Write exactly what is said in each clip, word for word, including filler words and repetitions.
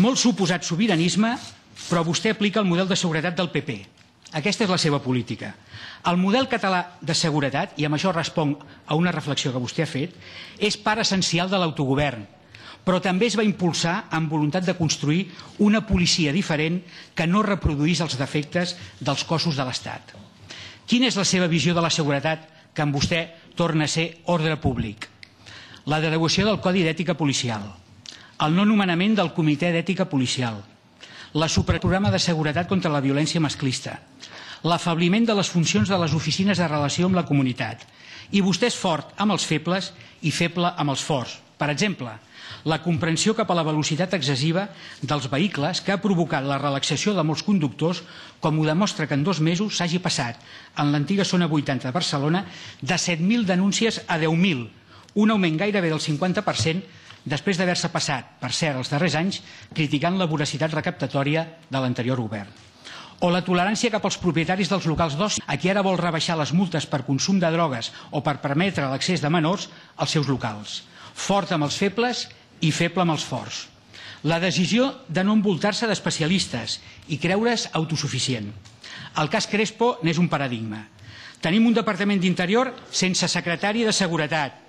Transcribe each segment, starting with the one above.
Molt suposat sobiranisme, però vostè aplica el model de seguretat del P P. Aquesta és la seva política. El model català de seguretat, i amb això responc a una reflexió que vostè ha fet, és part essencial de l'autogovern, però també es va impulsar amb voluntat de construir una policia diferent que no reproduís els defectes dels cossos de l'Estat. Quina és la seva visió de la seguretat que amb vostè torna a ser ordre públic? La derogació del Codi d'Ètica Policial, el no nomenament del Comitè d'Ètica Policial, la supraprograma de seguretat contra la violència masclista, l'afebliment de les funcions de les oficines de relació amb la comunitat. I vostè és fort amb els febles i feble amb els forts. Per exemple, la comprensió cap a la velocitat excessiva dels vehicles que ha provocat la relaxació de molts conductors, com ho demostra que en dos mesos s'hagi passat en l'antiga zona vuitanta de Barcelona de set mil denúncies a deu mil, un augment gairebé del cinquanta per cent després d'haver-se passat, per cert, els darrers anys, criticant la voracitat recaptatòria de l'anterior govern. O la tolerància cap als propietaris dels locals d'oci, a qui ara vol rebaixar les multes per consum de drogues o per permetre l'accés de menors als seus locals. Fort amb els febles i feble amb els forts. La decisió de no envoltar-se d'especialistes i creure's autosuficient. El cas Crespo n'és un paradigma. Tenim un Departament d'Interior sense secretari de Seguretat.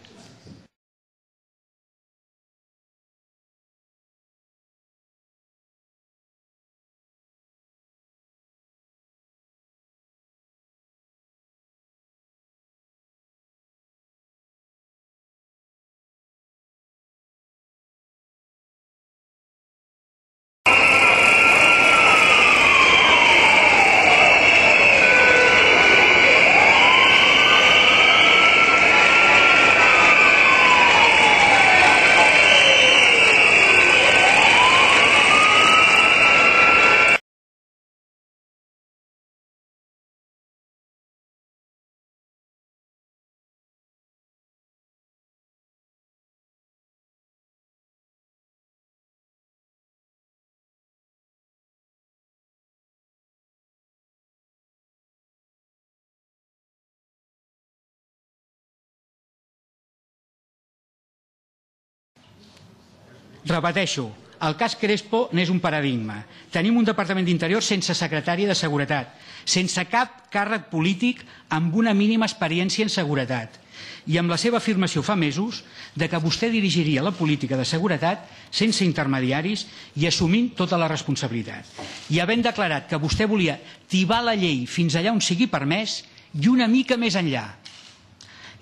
Repeteixo, el cas Crespo n'és un paradigma. Tenim un Departament d'Interior sense secretari de Seguretat, sense cap càrrec polític amb una mínima experiència en seguretat. I amb la seva afirmació fa mesos de que vostè dirigiria la política de seguretat sense intermediaris i assumint tota la responsabilitat. I havent declarat que vostè volia tibar la llei fins allà on sigui permès i una mica més enllà.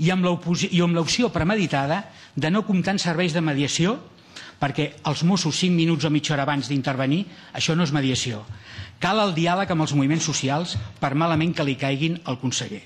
I amb l'opció premeditada de no comptar en serveis de mediació, perquè els Mossos cinc minuts o mitja hora abans d'intervenir, això no és mediació. Cal el diàleg amb els moviments socials per malament que li caiguin al conseller.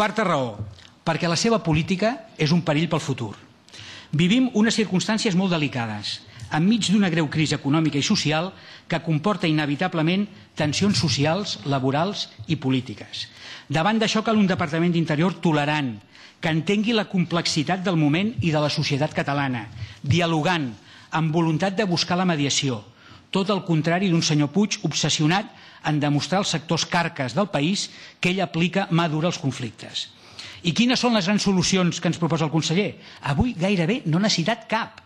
Quarta raó, perquè la seva política és un perill pel futur. Vivim unes circumstàncies molt delicades, enmig d'una greu crisi econòmica i social que comporta inevitablement tensions socials, laborals i polítiques. Davant d'això cal un Departament d'Interior tolerant, que entengui la complexitat del moment i de la societat catalana, dialogant, amb voluntat de buscar la mediació, tot el contrari d'un senyor Puig obsessionat en demostrar als sectors carques del país que ell aplica mà dura als conflictes. I quines són les grans solucions que ens proposa el conseller? Avui gairebé no n'ha citat cap,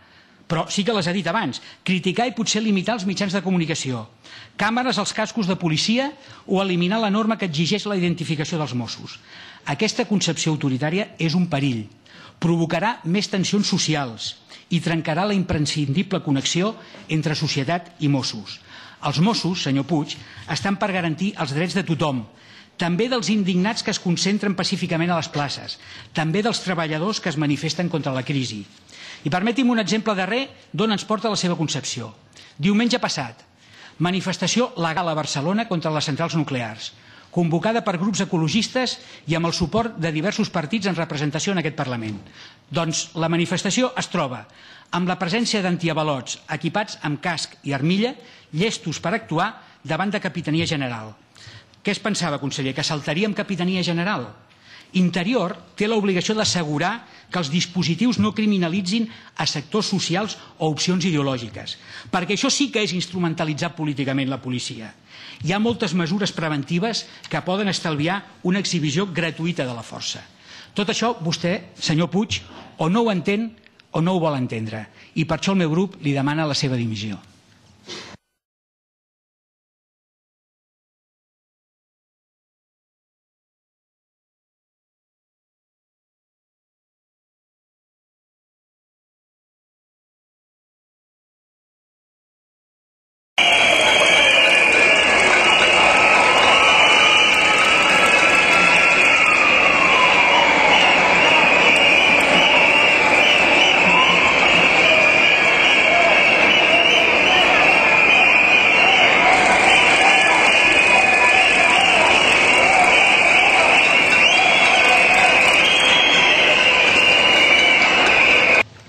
però sí que les ha dit abans. Criticar i potser limitar els mitjans de comunicació, càmeres als cascos de policia o eliminar la norma que exigeix la identificació dels Mossos. Aquesta concepció autoritària és un perill. Provocarà més tensions socials i trencarà la imprescindible connexió entre societat i Mossos. Els Mossos, senyor Puig, estan per garantir els drets de tothom, també dels indignats que es concentren pacíficament a les places, també dels treballadors que es manifesten contra la crisi. I permeti'm un exemple darrer d'on ens porta la seva concepció. Diumenge passat, manifestació legal a Barcelona contra les centrals nuclears, convocada per grups ecologistes i amb el suport de diversos partits en representació en aquest Parlament. Doncs la manifestació es troba amb la presència d'antiavalots equipats amb casc i armilla, llestos per actuar davant de Capitania General. Què es pensava, conseller? Que saltaria amb Capitania General? Interior té l'obligació d'assegurar que els dispositius no criminalitzin a sectors socials o opcions ideològiques, perquè això sí que és instrumentalitzar políticament la policia. Hi ha moltes mesures preventives que poden estalviar una exhibició gratuïta de la força. Tot això vostè, senyor Puig, o no ho entén o no ho vol entendre, i per això el meu grup li demana la seva dimissió.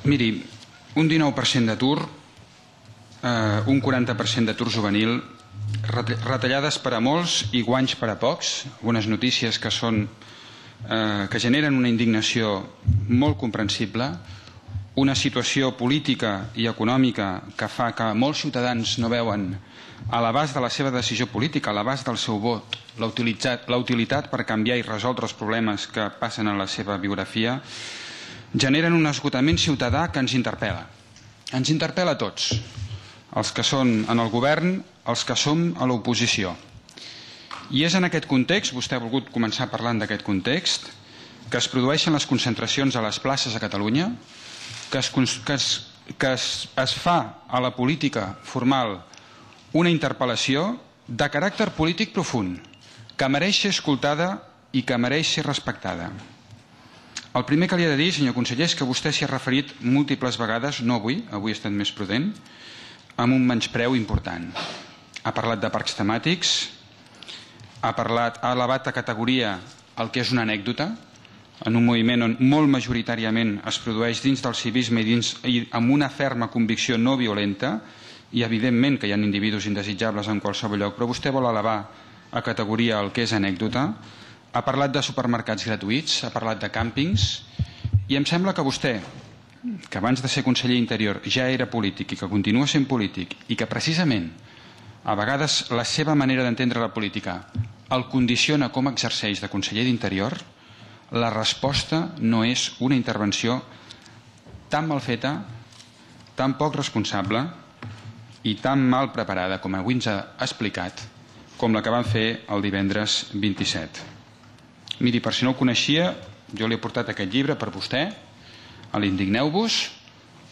Miri, un dinou per cent d'atur, eh, un quaranta per cent d'atur juvenil, retallades per a molts i guanys per a pocs, algunes notícies que, són, eh, que generen una indignació molt comprensible, una situació política i econòmica que fa que molts ciutadans no veuen a l'abast de la seva decisió política, a l'abast del seu vot, la utilitat, la utilitat per canviar i resoldre els problemes que passen en la seva biografia, generen un esgotament ciutadà que ens interpel·la. Ens interpel·la a tots, els que són en el govern, els que som a l'oposició. I és en aquest context, vostè ha volgut començar parlant d'aquest context, que es produeixen les concentracions a les places a Catalunya, que es, que es, que es, es fa a la política formal una interpel·lació de caràcter polític profund, que mereix ser escoltada i que mereix ser respectada. El primer que li he de dir, senyor conseller, és que vostè s'hi ha referit múltiples vegades, no avui, avui ha estat més prudent, amb un menyspreu important. Ha parlat de parcs temàtics, ha, parlat, ha elevat a categoria el que és una anècdota, en un moviment on molt majoritàriament es produeix dins del civisme i, dins, i amb una ferma convicció no violenta, i evidentment que hi ha individus indesitjables en qualsevol lloc, però vostè vol elevar a categoria el que és anècdota. Ha parlat de supermercats gratuïts, ha parlat de càmpings, i em sembla que vostè, que abans de ser conseller Interior ja era polític i que continua sent polític, i que precisament a vegades la seva manera d'entendre la política el condiciona com exerceix de conseller d'Interior, la resposta no és una intervenció tan mal feta, tan poc responsable i tan mal preparada com avui ens ha explicat, com la que van fer el divendres vint-i-set. Miri, per si no ho coneixia, jo li he portat aquest llibre per vostè, a l'Indigneu-vos,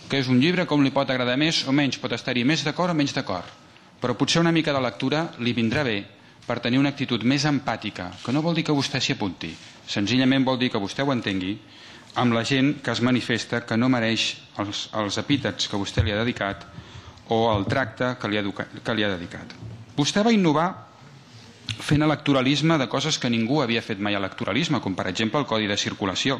que és un llibre com li pot agradar més o menys, pot estar-hi més d'acord o menys d'acord, però potser una mica de lectura li vindrà bé per tenir una actitud més empàtica, que no vol dir que vostè s'hi apunti, senzillament vol dir que vostè ho entengui, amb la gent que es manifesta que no mereix els, els epítets que vostè li ha dedicat o el tracte que li ha, que li ha dedicat. Vostè va innovar fent electoralisme de coses que ningú havia fet mai electoralisme, com per exemple el codi de circulació,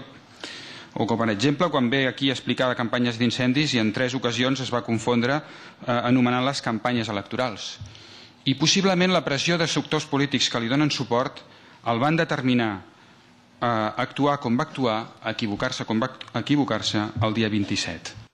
o com per exemple quan ve aquí a explicar de campanyes d'incendis i en tres ocasions es va confondre eh, anomenant les campanyes electorals. I possiblement la pressió de sectors polítics que li donen suport el van determinar a actuar com va actuar, a equivocar-se com va equivocar-se el dia vint-i-set.